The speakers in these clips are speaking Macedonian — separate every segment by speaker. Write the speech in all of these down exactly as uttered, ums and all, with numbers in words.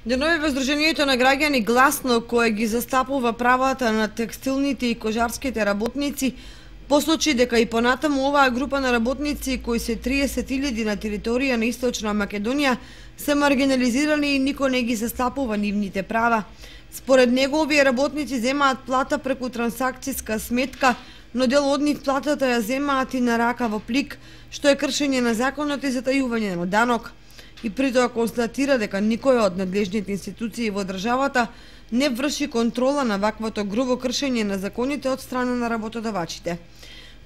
Speaker 1: Денови во Сдруженијето на граѓани Гласно, кое ги застапува правата на текстилните и кожарските работници, посочи дека и понатаму оваа група на работници, кои се триесет илјади на територија на Источна Македонија, се маргинализирани и никој не ги застапува нивните права. Според него, овие работници земаат плата преку трансакцијска сметка, но дел од нив платата ја земаат и на рака во плик, што е кршење на законот и затајување на данок. И при тоа констатира дека никој од надлежните институции во државата не врши контрола на ваквото грубо кршење на законите од страна на работодавачите.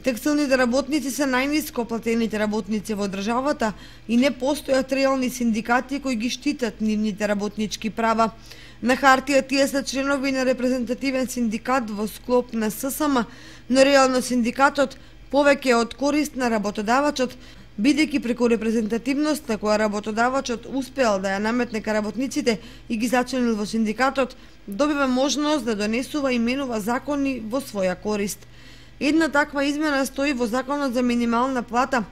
Speaker 1: Текстилните работници се најниско платените работници во државата и не постојат реални синдикати кои ги штитат нивните работнички права. На хартија тие се членови на репрезентативен синдикат во склоп на С С М, но реално синдикатот повеќе од корист на работодавачот, бидејќи преку репрезентативноста која работодавачот успеал да ја наметне ка работниците и ги зачленил во синдикатот, добива можност да донесува и менува закони во своја корист. Една таква измена стои во Законот за минимална плата,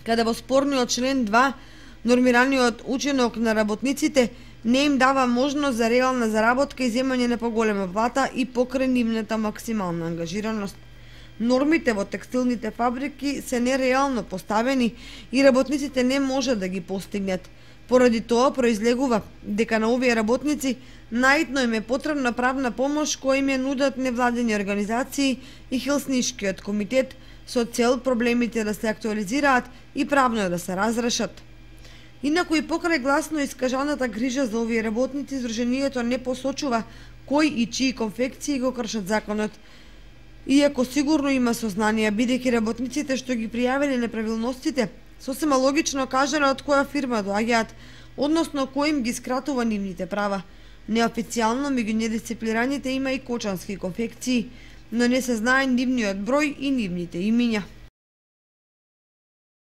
Speaker 1: каде во спорниот член два нормираниот учинок на работниците не им дава можност за реална заработка и земање на поголема плата и покрај нивната максимална ангажираност. Нормите во текстилните фабрики се нереално поставени и работниците не можат да ги постигнат. Поради тоа произлегува дека на овие работници наидно им е потребна правна помош која им ја нудат невладени организации и Хелсиншкиот комитет со цел проблемите да се актуализираат и правно да се разрешат. Инаку и покрај гласно искажаната грижа за овие работници, Сдруженијето не посочува кои и чии конфекции го кршат законот. Иако сигурно има сознанија, бидејќи работниците што ги пријавиле неправилностите, сосема логично кажале од која фирма доаѓаат, односно кој им ги скратува нивните права. Неофицијално меѓу недисциплираните има и кочански конфекции, но не се знае нивниот број и нивните имиња.